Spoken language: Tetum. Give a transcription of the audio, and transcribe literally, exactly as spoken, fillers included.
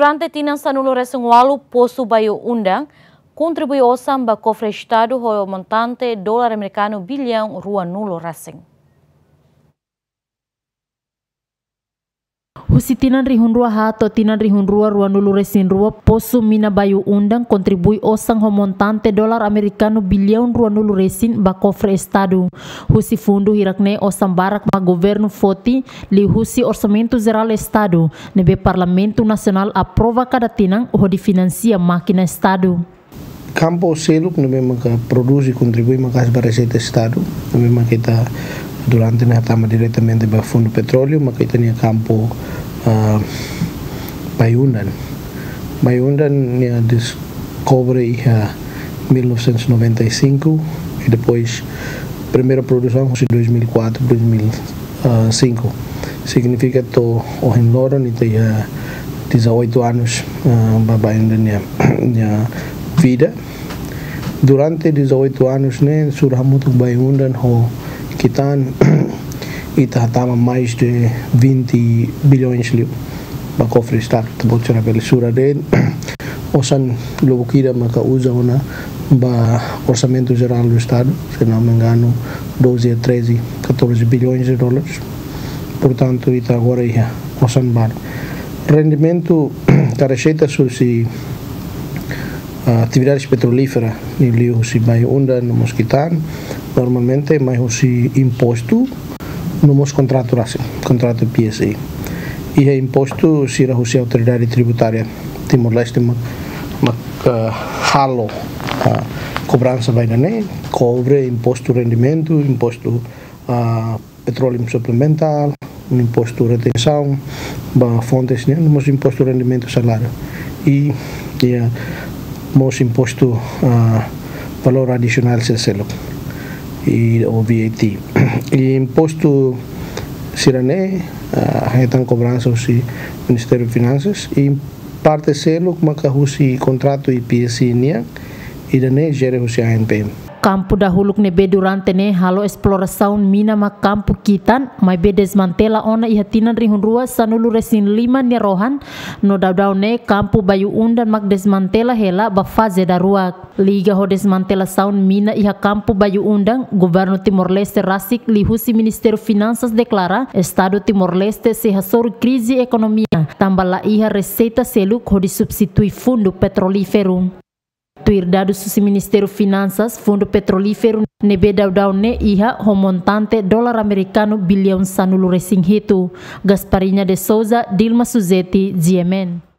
Durante tinan sanulu resin ualu, Posu Bayu Undan kontribui osan ba kofre Estadu ho montante dolar amerikanu biliaun ruanulu resin. Husi tinan rihun rua haat to'o tinan rihun rua ruanulu resin rua, Posu Mina Bayu Undan kontribui osan ho montante dolar amerikanu biliaun ruanulu resin ba kofre Estadu. Husi fundu hirak-ne'e osan barak mak governu foti liuhusi Orsamentu Jerál Estadu, ne'ebé Parlamentu Nasionál aprova kada tinan hodi finansia mákina Estadu. Kampu seluk ne'ebé maka produz i kontribui maka'as ba reseita Estadu, ne'ebé maka ita durante ne'e hatama diretamente ba Fundu Petróleu, maka ita-nia kampu, ah, Bayu Undan. Bayu Undan nia deskobre iha mil novecentos e noventa e cinco, i depois primeira produsaun husi dois mil e quatro, dois mil e cinco. Signifika to'o ohin loron ita iha dezoito anos, ah, ba Bayu Undan nia, nia vida. Durante dezoito anos ne'e, sura hamutuk Bayu Undan ho Kitan, ita hatama mais de vinte bilhões liu ba kofre Estadu. Ita-boot sira bele sura de'it, osan lubuk ida maka uza ona ba Orsamentu Jerál do Estadu, se não me engano, doze a treze, catorze bilhões de dólares. Portantu, ita agora iha osan barak. Rendimentu ka reseita husi, ah, atividades petrolífera, liuliu husi Bayu Undan no mós Kitan, normalmente mai husi impostu no mós kontratu rasik, kontratu P S A. Iha impostu sira husi Autoridade Tributária Timor-Leste mak, mak, ah, halo, ah, kobransa ba ida-ne'e, kobre, impostu rendimentu, impostu, ah, petróleu suplementár, impostu retensaun ba fontes nian, no mós impostu rendimentu saláriu. I, i, ah, mós impostu, ah, valór adisionál sira seluk, i, ou V A T. I impostu sira-ne'e, ah, hetan kobransa husi Ministériu Finansas, i parte seluk maka husi kontratu I P S C nian, ida-ne'e jere husi A N P M. Kampu dahuluk ne'ebé durante ne'e halo esplorasaun mina mak kampu Kitan, maibé desmantela ona iha tinan rihun rua sanulu resin lima nia rohan, no daudaun ne'e kampu Bayu Undan mak desmantela hela ba faze daruak. Liga ho desmantelasaun mina iha kampu Bayu Undan, Governu Timor-Leste rasik liuhusi Ministériu Finansas deklara Estadu Timor-Leste sei hasoru krize ekonomia, tanba la iha reseita seluk hodi substitui fundu petrolíferu. Tuir dadus husi Ministériu Finansas, fundu petrolíferu ne'ebé daudaun ne'e iha ho montante dolar amerikanu biliaun sanulu resin hitu. Gasparinha de Souza, Dilma Suzeti, G M N.